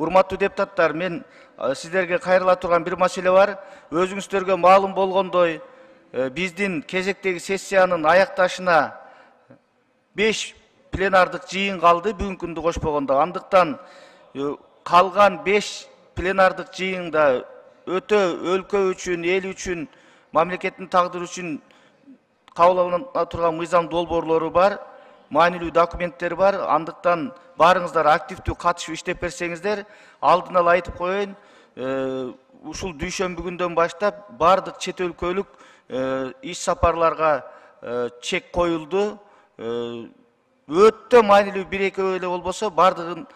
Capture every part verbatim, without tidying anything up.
Урматтуу депутаттар, мен сиздерге кайрыла турган бир маселе бар. Өзүңүздөргө маалым болгондой, биздин кезектеги сессиянын аякташына беш пленардык жыйын калды, бүгүнкү күндү кошпогондо. Андыктан калган беш пленардык жыйында өтө өлкө үчүн, эл үчүн, мамлекеттин тагдыры үчүн кабыл алына турган мыйзам долбоорлору бар, маанилүү документтер бар. Андыктан баарыңыздар активдүү катышып иштеп берсеңиздер, алдын ала айтып коеюн, ушул дүйшөмбү күндөн баштап баардык чет өлкөлүк иш сапарларга чек коюлду. Өтө маанилүү бир экөө эле болбосо баардыгын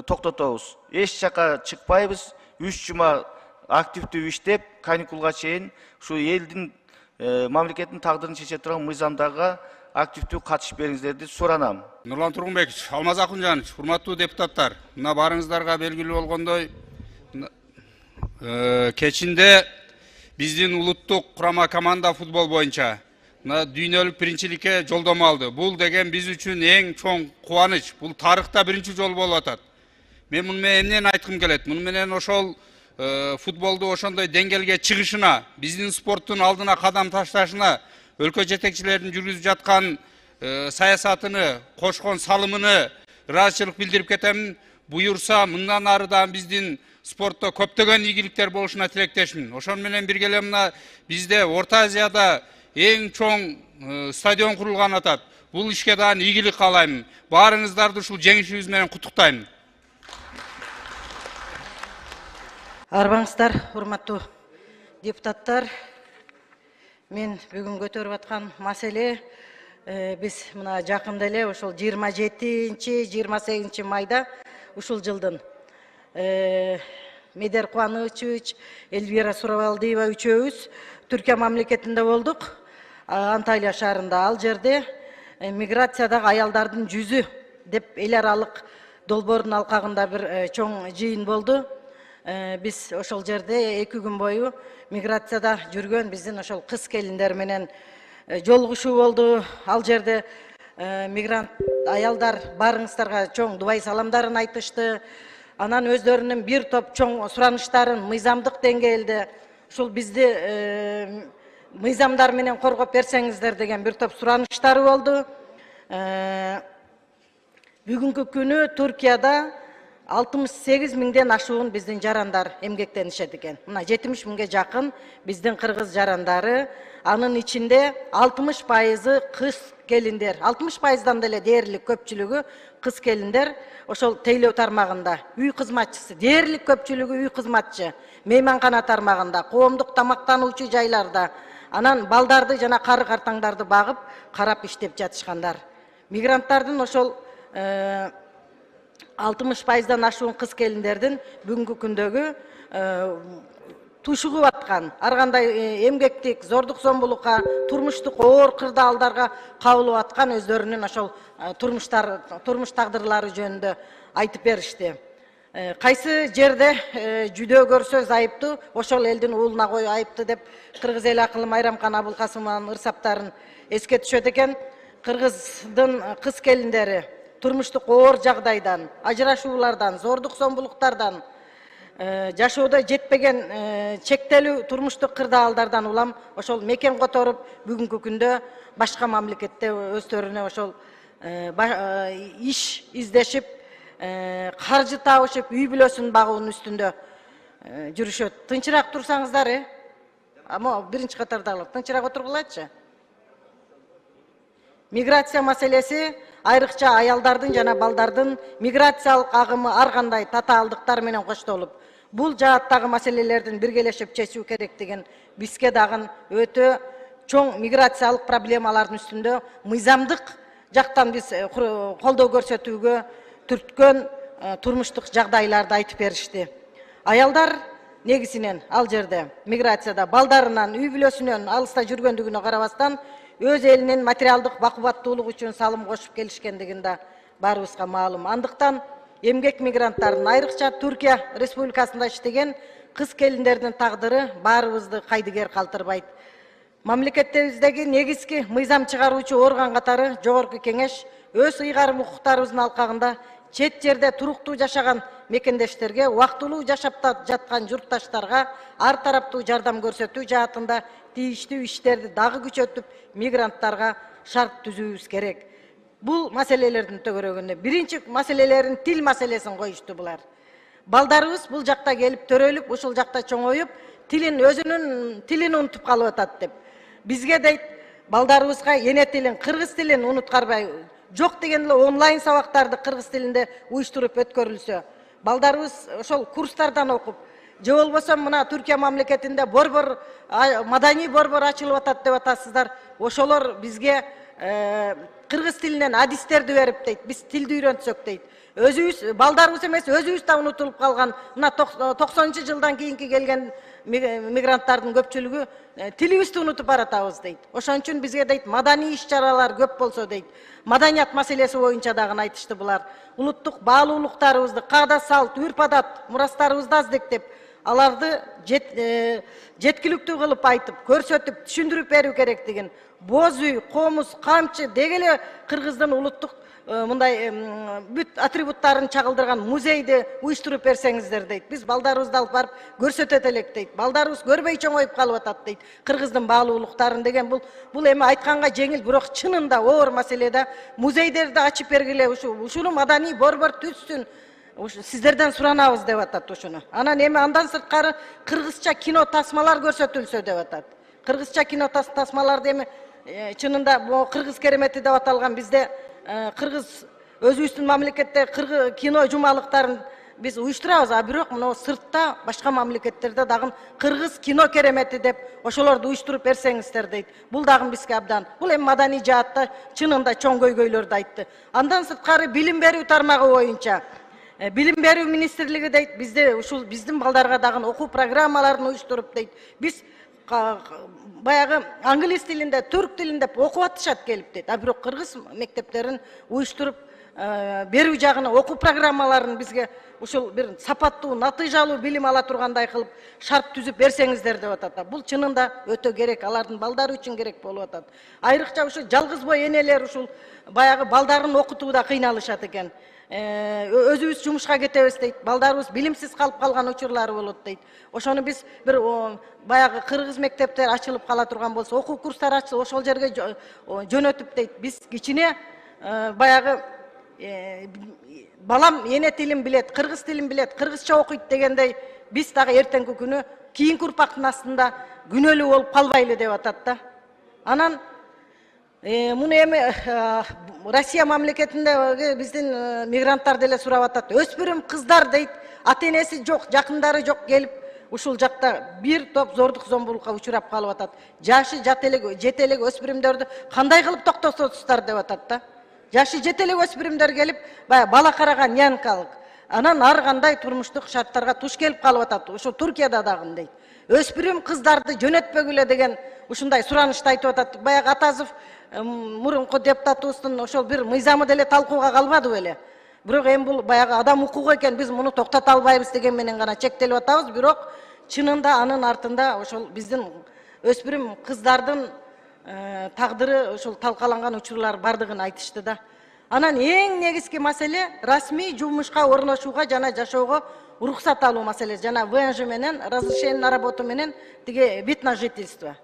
токтотобуз. Эч жака чыкпайбыз. үч жума активдүү иштеп, каникулга чейин ушу элдин мамлекеттин тагдырын чече турган мыйзамдарга активдүү катышып бериңиздерди суранам. Нурлан Тургунбекович, Алмаз Акунжанович, урматтуу депутаттар, мына баарыңыздарга белгилүү болгондой, кечинде биздин улуттук курама команда футбол боюнча дүйнөлүк биринчиликке жолдомо алды. Бул деген биз үчүн эң чоң кубаныч. Бул тарыхта биринчи жолу болуп атат. Мен муну менен эмнени айткым келет? Муну менен ошол футболду ошондой деңгээлге чыгышына, биздин спорттун алдына кадам ташташына, өлкө жетекчилеринин жүргүзүп жаткан саясатыны, кошкон салымыны ыраазычылык билдирип кетем. Буюрса, мындан ары да биздин спортто көптөгөн ийгиликтер болушуна тилектешмин. Ошон менен бирге эле мына бизде Орто Азияда эң чоң стадион курулган атат. Бул ишке дагы ийгилик каалайм. Баарыңыздарды ушул жеңишибиз менен куттуктайм. Арбаңыздар, урматтуу депутаттар. Мен бүгүн көтөрүп аткан маселе биз мына жакында эле ошол жыйырма жетинчи жыйырма сегизинчи майда ушул жылдын Медер Кубанычевич, Эльвира Суравалдиева үчөөбүз Түркия мамлекетинде болдук. Анталия шаарында. Ал жерде миграциядагы аялдардын жүзү деп эл аралык долбоордун алкагында бир чоң жыйын болду. Биз ошол жерде эки күн бою миграцияда жүргөн биздин ошол кыз келиндер менен жолугушуу болду. Ал жерде мигрант аялдар баарыңыздарга чоң дубай саламдарын айтышты. Анан өздөрүнүн бир топ чоң сураныштарын мыйзамдык деңгээлде ушул бизди мыйзамдар менен коргоп берсеңиздер деген бир топ сураныштары болду. Бүгүнкү күнү Туркияда алтымыш сегиз миңден ашуун биздин жарандар эмгектенишет экен. Мына жетимиш миңге жакын биздин кыргыз жарандары, анын ичинде алтымыш пайызы кыз келиндер. алтымыш пайыздан деле дээрлик көпчүлүгү кыз келиндер ошол тейлөө тармагында, үй кызматчысы, дээрлик көпчүлүгү үй кызматчы, мейманкана тармагында, коомдук тамактануучу жайларда, анан балдарды жана кары картаңдарды багып, карап иштеп жатышкандар. Мигранттардын ошол алтымыш пайыздан ашуун кыз келиндердин бүгүнкү күндөгү тушугуп аткан, ар кандай эмгектик, зордук зомбулукка, турмуштук оор кырдаалдарга кабылып аткан өздөрүнүн ошол турмуштар, турмуш тагдырлары жөнүндө айтып беришти. Кайсы жерде жүдөө көрсө айыптуу, ошол элдин уулуна кой айыптуу деп кыргыз эл акылы Майрамкан Абулкасымованын ырсаптарын эске түшөт экен. Кыргыздын кыз келиндери турмуштук оор жагдайдан, ажырашуулардан, зордук зомбулуктардан, жашоодо жетпеген чектелүү турмуштук кырдаалдардан улам ошол мекен которуп, бүгүнкү күндө башка мамлекетте өздөрүнө ошол иш издешип, каржы табышып, үй бүлөсүн багуунун үстүндө жүрүшөт. Тынчыраак турсаңыздар, э? Ама биринчи катардагылар тынчыраак отургулачы. Миграция маселеси айрыкча аялдардын жана балдардын миграциялык агымы ар кандай татаалдыктар менен коштолуп, бул жааттагы маселелердин биргелешип чечүү керектигин, бизге дагы өтө чоң миграциялык проблемалардын үстүндө мыйзамдык жактан биз колдоо көрсөтүүгө түрткөн турмуштук жагдайларды айтып беришти. Аялдар негизинен ал жерде миграцияда балдарынан, үй бүлөсүнөн алыста жүргөндүгүнө карабастан өз элинин материалдык бакубаттуулук үчүн салым кошуп келишкендигин да баарыбызга маалым. Андыктан эмгек мигранттардын, айрыкча Түркия Республикасында иштеген кыз келиндердин тагдыры баарыбызды кайдыгер калтырбайт. Мамлекетибиздеги негизги мыйзам чыгаруучу орган катары Жогорку Кеңеш өз ыйгарым укуктарыбыздын алкагында чет жерде туруктуу жашаган мекендештерге, убактылуу жашап жаткан журтташтарга ар тараптуу жардам көрсөтүү жаатында тийиштүү иштерди дагы күчөтүп, мигранттарга шарт түзүүбүз керек. Бул маселелердин төгөрөгүндө биринчи маселелерин тил маселесин коюшту булар. Балдарыбыз бул жакта келип төрөлүп, ушул жакта чоңоюп, тилин өзүнүн тилин унутуп калып атат деп. Бизге дейт, балдарыбызга эне тилин, кыргыз тилин унуткарбай, жок дегенде эле онлайн сабактарды кыргыз тилинде уюштуруп өткөрүлсө, балдарыбыз ошол курстардан окуп, же болбосо мына Түркия мамлекетинде борбор, маданий борбор ачылып атат деп атасыздар. Ошолор бизге кыргыз тилинен адистерди берип дейт, биз тилди үйрөнтсөк дейт. Өзүбүз балдарыбыз эмес, өзүбүз да унутулуп калган. Мына токсонунчу жылдан кийинки келген мигранттардын көпчүлүгү тилибизди унутуп баратабыз дейт. Ошон үчүн бизге дейт, маданий иш-чаралар көп болсо дейт. Маданият маселеси боюнча дагы айтышты булар. Улуттук баалуулуктарыбызды, каада салт, үрп-адат, мурастарыбызды аздектеп, аларды жеткиликтүү кылып айтып, көрсөтүп, түшүндүрүп берүү керектигин. Боз үй, комуз, камчы деги эле кыргыздын улуттук мындай бүт атрибуттарын чагылдырган музейди уюштуруп берсеңиздер дейт. Биз балдарыбызды алып барып көрсөтөт элек дейт. Балдарыбыз көрбөй чоңоюп калып атат дейт. Кыргыздын баалуулуктарын деген бул бул эми айтканга жеңил, бирок чынында оор маселеде музейдерди ачып бергиле, ушуну маданий борбор түзсүн. Сиздерден суранабыз деп атат ушуну. Анан эми андан сырткары кыргызча кино тасмалар көрсөтүлсө деп атат. Кыргызча кино тасмаларды эми чынында бу кыргыз керемети деп аталган бизде кыргыз өзүбүздүн мамлекетте кыргыз кино жумалыктарын биз уюштурабыз, а бирок мына сыртта башка мамлекеттерде дагы кыргыз кино керемети деп ошолорду уюштуруп берсеңиздер дейт. Бул дагы бизге абдан. Бул эми маданий жаатта чынында чоң көйгөйлөрдү айтты. Андан сырткары билим берүү тармагы боюнча Билим берүү министрлиги дейт, бизде ушул биздин балдарга дагы окуу программаларын уюштуруп дейт. Биз баягы англис тилинде, түрк тилинде окуп атышат келип дейт. А бирок кыргыз мектептерин уюштуруп берүү жагына окуу программаларын бизге ушул бир сапаттуу, натыйжалуу билим ала тургандай кылып шарт түзүп берсеңиздер деп атат. Бул чынында өтө керек, алардын балдары үчүн керек болуп атат. Айрыкча ушул жалгыз бой энелер ушул баягы балдарын окутууда кыйналышат экен. Өзүбүз жумушка кетебиз дейт. Балдарыбыз билимсиз калып калган учурлары болот дейт. Ошону биз бир баягы кыргыз мектептер ачылып кала турган болсо, окуу курстары ачылып, ошол жерге жөнөтүп дейт. Биз кичине баягы балам эне тилин билет, кыргыз тилин билет, кыргызча окуйт дегендей, биз дагы эртеңки күнү кийинки урпактын астында күнөөлүү болуп калбайлы деп атат да. Анан муну эми Россия мамлекетинде биздин мигранттар деле сурап атат. Өспүрүм кыздар дейт, ата-энеси жок, жакындары жок келип, ушул жакта бир топ зордук зомбулукка учурап калып атат. Жашы жат элек, жете элек өспүрүмдөрдү кандай кылып токтотосуздар деп атат да. Жашы жете элек өспүрүмдөр келип, баягы бала караган нянкалык. Анан ар кандай турмуштук шарттарга туш келип калып атат. Ошо Туркияда дагы дейт. Өспүрүм кыздарды жөнөтпөгүлө деген ушундай суранышты айтып атат. Баягы Атазов мурунку депутатыбыздын ошол бир мыйзамы деле талкууга калбады беле. Бирок эми бул баягы адам укугу экен, биз муну токтото албайбыз деген менен гана чектелип атабыз. Бирок чынында анын артында ошол биздин өспүрүм кыздардын тагдыры ошол талкаланган учурлар бардыгын айтышты да. Анан эң негизги маселе расмий жумушка орношууга жана жашоого уруксат алуу маселеси, жана ВНЖ менен разрешение на работу менен тиги вид на жительство.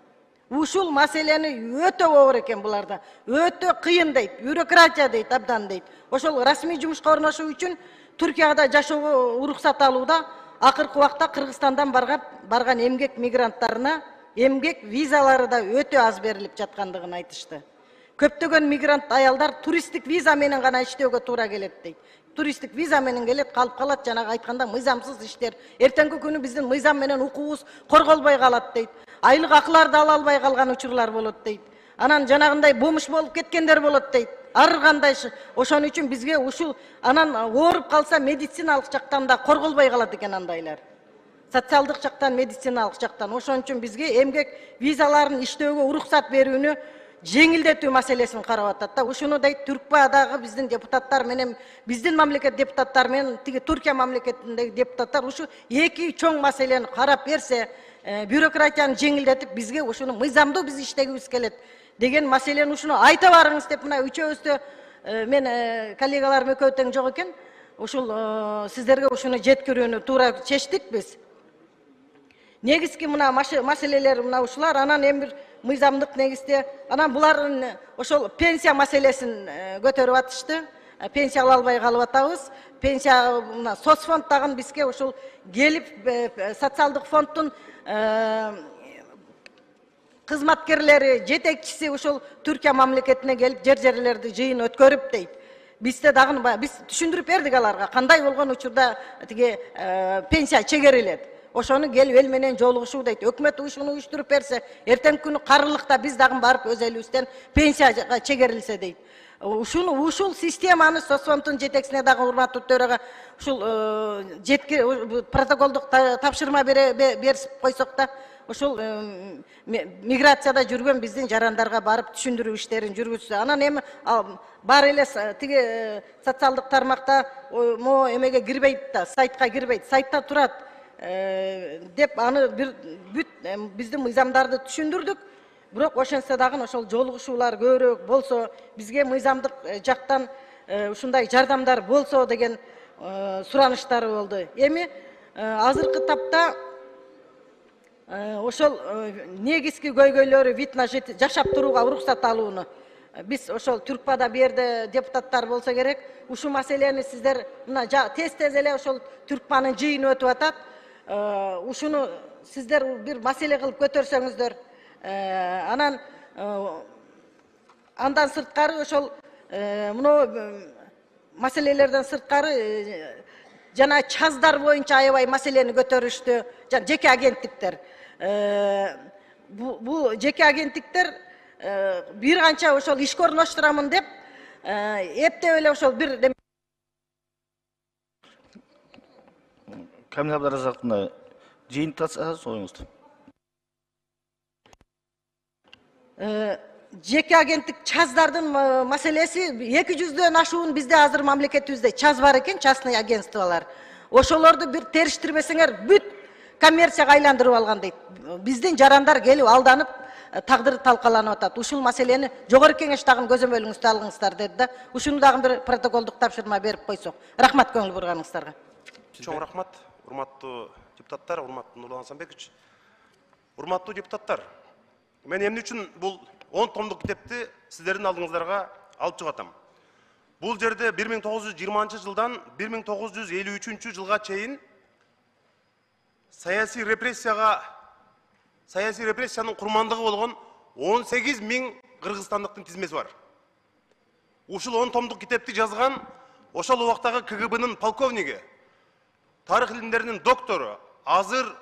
Ушул маселени өтө оор экен буларда. Өтө кыйын дейт, бюрократия дейт, абдан дейт. Ошол расмий жумушка орношуу үчүн Түркияда жашоого уруксат алууда акыркы убакта Кыргызстандан барган эмгек мигранттарына эмгек визалары да өтө аз берилип жаткандыгын айтышты. Көптөгөн мигрант аялдар туристтик виза менен гана иштөөгө туура келет дейт. Туристтик виза менен келет, калып калат, жанагы айтканда мыйзамсыз иштер. Эртеңки күнү биздин мыйзам менен укугубуз корголбой калат дейт. Айлык акыларды ала албай калган учурлар болот дейт. Анан жанагындай бомуш болуп кеткендер болот дейт. Ар кандай. Ошон үчүн бизге ушул анан ооруп калса медициналык жактан да корголбой калат экен андайлар. Социалдык жактан, медициналык жактан. Ошон үчүн бизге эмгек визаларын иштөөгө уруксат берүүнү жеңилдетүү маселесин карап атат да. Ушуну дейт Түркбадагы биздин депутаттар менен, биздин мамлекет депутаттары менен тиги Түркия мамлекетиндеги депутаттар ушу эки чоң маселени карап берсе, бюрократияны жеңилдетип бизге ушуну мыйзамдуу биз иштегибиз келет деген маселени ушуну айта барыңыз деп мына үчөөбүздө мен коллегаларым экөө тең жок экен. ушул сиздерге ушуну жеткирүүнү туура чечтик биз. Негизги мына маселелер мына ушулар, анан эми бир мыйзамдык негизде, анан булардын ошол пенсия маселесин көтөрүп атышты. Пенсия ала албай калып атабыз. Пенсия мына соцфонд дагы бизге ушул келип социалдык фонддун кызматкерлери, жетекчиси ушул Түркия мамлекетине келип жер жерлерди жыйын өткөрүп дейт. Бизде дагы биз түшүндүрүп бердик аларга кандай болгон учурда тиги пенсия чегерилет. Ошону келип эл менен жолугушуу дейт. Өкмөт ушуну уюштуруп берсе, эртеңки күнү карылыкта биз дагы барып өз элибизден пенсияга чегерилсе дейт. Ушуну ушул системаны соцфонддун жетекчисине дагы урматтуу төрага ушул жетки протоколдук тапшырма берип койсок да, ушул миграцияда жүргөн биздин жарандарга барып түшүндүрүү иштерин жүргүзсө. Анан эми бар эле тиги социалдык тармакта могу эмеге кирбейт да, сайтка кирбейт, сайтта турат деп аны бир бүт биздин мыйзамдарды түшүндүрдүк. Бирок ошентсе дагы ошол жолугушуулар көбүрөөк болсо, бизге мыйзамдык жактан ушундай жардамдар болсо деген сураныштары болду. Эми азыркы тапта ошол негизги көйгөйлөрү вид на жашап турууга уруксат алууну. Биз ошол Түркпада бу жерде депутаттар болсо керек, ушул маселени сиздер мына тез-тез эле ошол Түркпанын жыйыны өтүп атат. Ушуну сиздер бир маселе кылып көтөрсөңүздөр, анан андан сырткары ошол мына маселелерден сырткары жана чаздар боюнча аябай маселени көтөрүштү. Жана жеке агенттиктер. Бул жеке агенттиктер бир канча ошол ишке орноштурамын деп эптеп эле ошол бир Камил Абдаразаковна жыйынтаса союңузду. Жеке агенттик чаздардын маселеси эки жүздөн ашуун бизде азыр мамлекетибизде чаз бар экен, частный агентстволор. Ошолорду бир териштирбесеңер бүт коммерцияга айландырып алган дейт. Биздин жарандар келип алданып тагдыры талкаланып атат. Ушул маселени жогорку кеңеш дагы көзөмөлүңүздө алыңыздар деди да. Ушуну дагы бир протоколдук тапшырма берип койсок. Рахмат көңүл бурганыңыздарга. Чоң рахмат, урматтуу депутаттар, урматтуу Нурлан Асанбекович. Урматтуу депутаттар, мен эмне үчүн бул он томдук китепти сиздердин алдыңыздарга алып чыгып атам. Бул жерде бир миң тогуз жүз жыйырманчы жылдан бир миң тогуз жүз элүү үчүнчү жылга чейин саясий репрессияга саясий репрессиянын курмандыгы болгон он сегиз миң кыргызстандыктын тизмеси бар. Ушул он томдук китепти жазган ошол убактагы К Г Б'нын полковниги, тарых илимдеринин доктору, азыр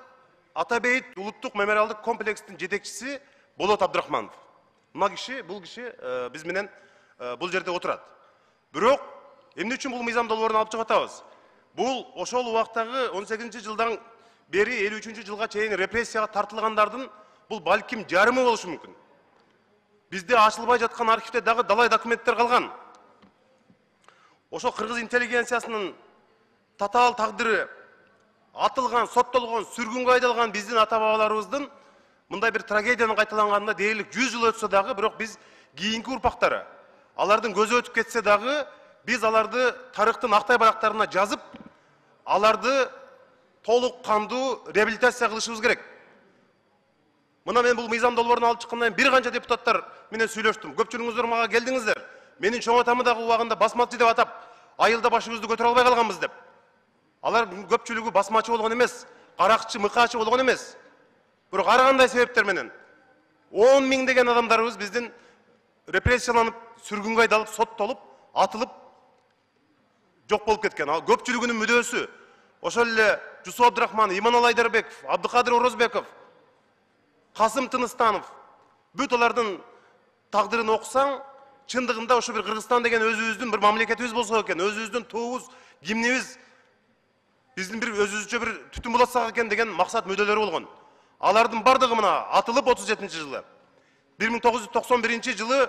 Атабейит улуттук мемориалдык комплекстин жетекчиси Болот Абдрахманов. Мына киши, бул киши биз менен бул жерде отурат. Бирок эмне үчүн бул мыйзам долбоорун алып чыгып атабыз? Бул ошол убактагы он сегизинчи жылдан бери элүү үчүнчү жылга чейин репрессияга тартылгандардын бул балким жарымы болушу мүмкүн. Бизде ачылбай жаткан архивде дагы далай документтер калган. Ошол кыргыз интеллигенциясынын татаал тагдыры атылган, соттолгон, сүргүнгө айдалган биздин ата бабаларыбыздын мындай бир трагедиянын кайталанганына дээрлик жүз жыл өтсө дагы, бирок биз кийинки урпактары алардын көзү өтүп кетсе дагы, биз аларды тарыхтын актай барактарына жазып, аларды толук кандуу реабилитация кылышыбыз керек. Мына мен бул мыйзам долбоорун алып чыккандан кийин бир канча депутаттар менен сүйлөштүм. Көпчүлүгүңүздөр мага келдиңиздер. Менин чоң атамы дагы убагында басмачы деп атап, айылда башыбызды көтөрө албай калганбыз деп. Алар көпчүлүгү басмачы болгон эмес, каракчы, мыкаачы болгон эмес. Бирок ар кандай себептер менен он миң деген адамдарыбыз биздин репрессияланып, сүргүнгө айдалып, соттолуп, атылып жок болуп кеткен. Ал көпчүлүгүнүн мүдөөсү ошол эле Жусуп Абдрахманов, Иманалы Айдарбеков, Абдыкадыр Орозбеков, Касым Тыныстанов, бүт алардын тагдырын окусаң, чындыгында ошо бир Кыргызстан деген өзүбүздүн бир мамлекетибиз болсо экен, өзүбүздүн туубуз, гимнибиз, биздин бир өзүбүзчө бир түтүн булатсак экен деген максат мүдөлөрү болгон. Алардын бардыгы мына атылып отуз жетинчи жылы. бир миң тогуз жүз токсон биринчи жылы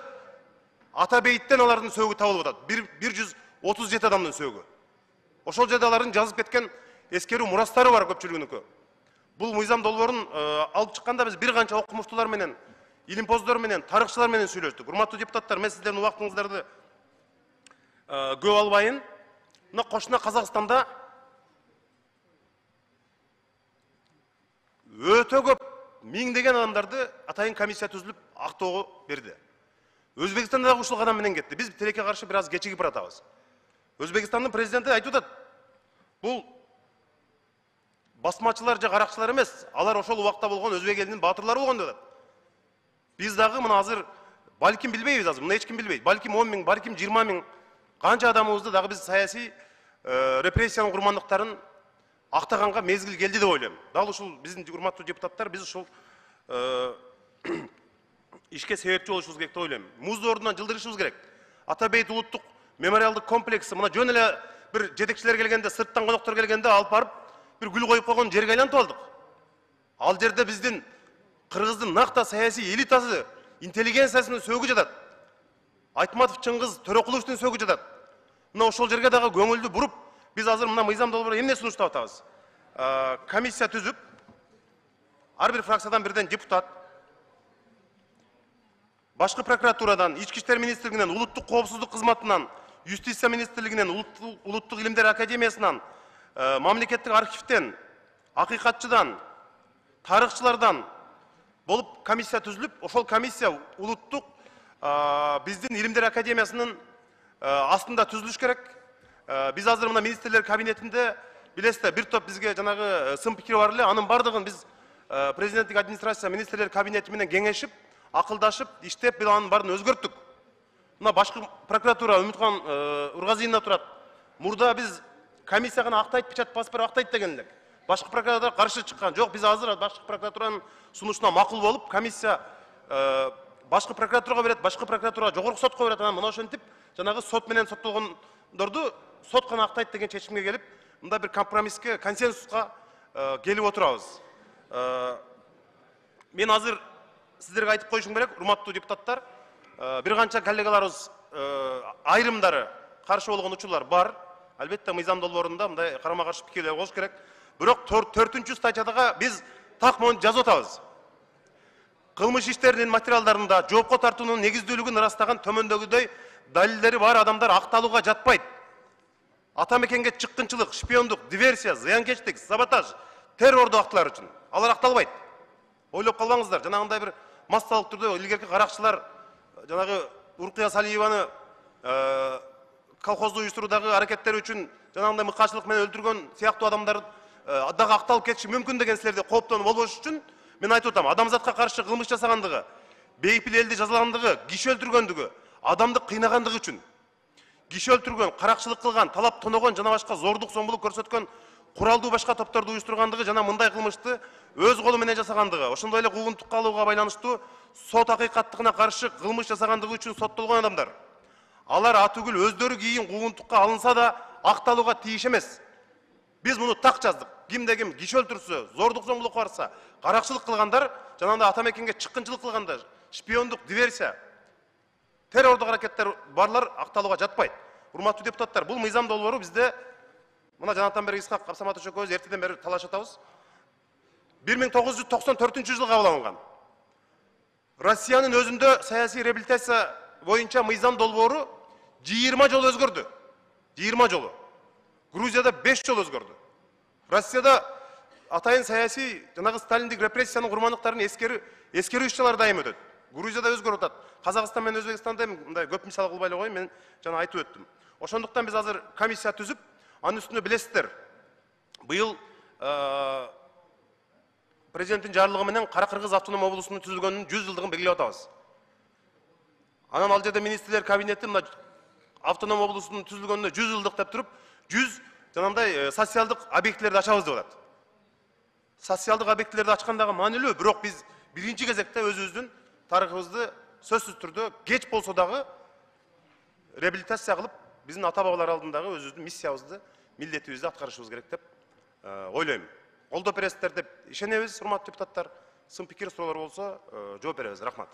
Атабейиттен алардын сөөгү табылып атат. бир жүз отуз жети адамдын сөөгү. Ошол жерде алардын жазып кеткен эскерүү мурастары бар көпчүлүгүнүкү. Бул мыйзам долбоорун алып чыкканда биз бир канча окумуштуулар менен, илимпоздор менен, тарыхчылар менен сүйлөштүк. Урматтуу депутаттар, мен сиздердин убактыңыздарды көп албайын. мына кошуна Казакстанда өтө көп миңдеген адамдарды атайын комиссия түзүлүп актоого берди. Өзбекстанда дагы ушул кадам менен кетти. Биз тилекке каршы бир аз кечигип баратабыз. Өзбекстандын президенти айтып атат, бул басмачылар же каракчылар эмес, алар ошол убакта болгон өзбек элинин баатырлары болгон деп атат. Биз дагы мына азыр балким билбейбиз, азыр муну эч ким билбейт. Балким он миң, балким жыйырма миң канча адамыбызды дагы биз саясий репрессиянын курмандыктарын актаганга мезгил келди деп ойлойм. Дал ушул биздин урматтуу депутаттар биз ушул ишке себепчи болушубуз керек деп ойлойм. Музду ордунан жылдырышыбыз керек. Атабейт улуттук мемориалдык комплекси мына жөн эле бир жетекчилер келгенде, сырттан коноктор келгенде алып барып бир гүл коюп койгон жерге айлантып алдык. Ал жерде биздин Кыргыздын накта саясий элитасы, интеллигенциясынын сөөгү жатат. Айтматов Чыңгыз Төрөкуловдун сөөгү жатат. Мына ошол жерге дагы көңүлдү буруп, биз азыр мына мыйзам долбоору эмне сунуштап атабыз? Комиссия түзүп, ар бир фракциядан бирден депутат, башкы прокуратурадан, Ички иштер министрлигинен, улуттук коопсуздук кызматынан, юстиция министрлигинен, улуттук илимдер академиясынан, мамлекеттик архивден, акыйкатчыдан, тарыхчылардан болуп комиссия түзүлүп, ошол комиссия улуттук биздин илимдер академиясынын астында түзүлүш керек. Биз азыр мына министрлер кабинетинде билесиздер, бир топ бизге жанагы сын пикири бар эле, анын бардыгын биз президенттик администрация министрлер кабинети менен кеңешип, акылдашып, иштеп, бир анын баарын өзгөрттүк. Мына башкы прокуратура Үмүткан Ургазиевна турат. Мурда биз комиссияга актайт, печать басып берип актайт деген элек. Башкы прокуратура каршы чыккан. Жок, биз азыр башкы прокуратуранын сунушуна макул болуп, комиссия башкы прокуратурага берет, башкы прокуратура жогорку сотко берет, анан мына ошентип, жанагы сот менен соттолгондорду сот гана актайт деген чечимге келип, мында бир компромисске, консенсуска келип отурабыз. Мен азыр сиздерге айтып коюшум керек, урматтуу депутаттар, бир канча коллегаларыбыз айрымдары каршы болгон учурлар бар. Албетте мыйзам долбоорунда мындай карама-каршы пикирлер болуш керек. Бирок төртүнчү статьядагы биз так монтип жазып атабыз. Кылмыш иштеринин материалдарында жоопко тартуунун негиздүүлүгүн ырастаган төмөндөгүдөй далилдери бар адамдар акталууга жатпайт. Ата мекенге чыккынчылык, шпиондук, диверсия, зыянкечтик, саботаж, террордуу актылар үчүн алар акталбайт. Ойлоп калбаңыздар, жанагындай бир массалык түрдө илгерки каракчылар жанагы Уркия Салиеваны колхозду уюштуруудагы аракеттери үчүн жанагындай мыкаачылык менен өлтүргөн сыяктуу адамдар дагы акталып кетиши мүмкүн деген силерде кооптонуп болбош үчүн мен айтып атам, адамзатка каршы кылмыш жасагандыгы, бейпил элди жазалагандыгы, киши өлтүргөндүгү, адамды кыйнагандыгы үчүн, киши өлтүргөн, каракчылык кылган, талап тоногон жана башка зордук зомбулук көрсөткөн куралдуу башка топторду уюштургандыгы жана мындай кылмышты өз колу менен жасагандыгы, ошондой эле куугунтукка алууга байланыштуу сот акыйкаттыгына каршы кылмыш жасагандыгы үчүн соттолгон адамдар. Алар атүгүл өздөрү кийин куугунтукка алынса да акталууга тийиш эмес. Биз муну так жаздык. Кимде ким киши өлтүрсө, зордук зомбулук барса, каракчылык кылгандар, жанагындай ата мекенге чыккынчылык кылгандар, шпиондук, диверсия, террордук аракеттер барлар акталууга жатпайт. Урматтуу депутаттар, бул мыйзам долбоору бизде мына жанатан бери Исхак Абсаматович экөөбүз эртеден бери талашып атабыз. бир миң тогуз жүз токсон төртүнчү жылы кабыл алынган. Россиянын өзүндө саясий реабилитация боюнча мыйзам долбоору жыйырма жолу өзгөрдү. жыйырма жолу. Грузияда беш жолу өзгөрдү. Россияда атайын саясий жанагы сталиндик репрессиянын курмандыктарын эскерүү эскерүү иш-чаралары дайым өтөт. Грузияда өзгөрүп атат. Казакстан менен Өзбекстанда мындай көп мисал кылбай эле коеюн, мен жана айтып өттүм. Ошондуктан биз азыр комиссия түзүп, анын үстүнө билесиздер, быйыл президенттин жарлыгы менен Кара Кыргыз автоном облусунун түзүлгөнүнүн жүз жылдыгын белгилеп атабыз. Анан ал жерде министрлер кабинети мына автоном облусунун түзүлгөнүнө жүз жылдык деп туруп, жүз жанагындай социалдык объектилерди ачабыз деп атат. Социалдык объектилерди ачкандагы маанилүү, бирок биз биринчи кезекте өзүбүздүн тарыхыбызды сөзсүз түрдө кеч болсо дагы реабилитация кылып, биздин ата бабалар алдындагы өзүбүздүн миссиябызды, милдетибизди аткарышыбыз керек деп ойлойм. Колдоп бересиздер деп ишенебиз, урматтуу депутаттар. Сын пикир суроолор болсо жооп беребиз. Рахмат.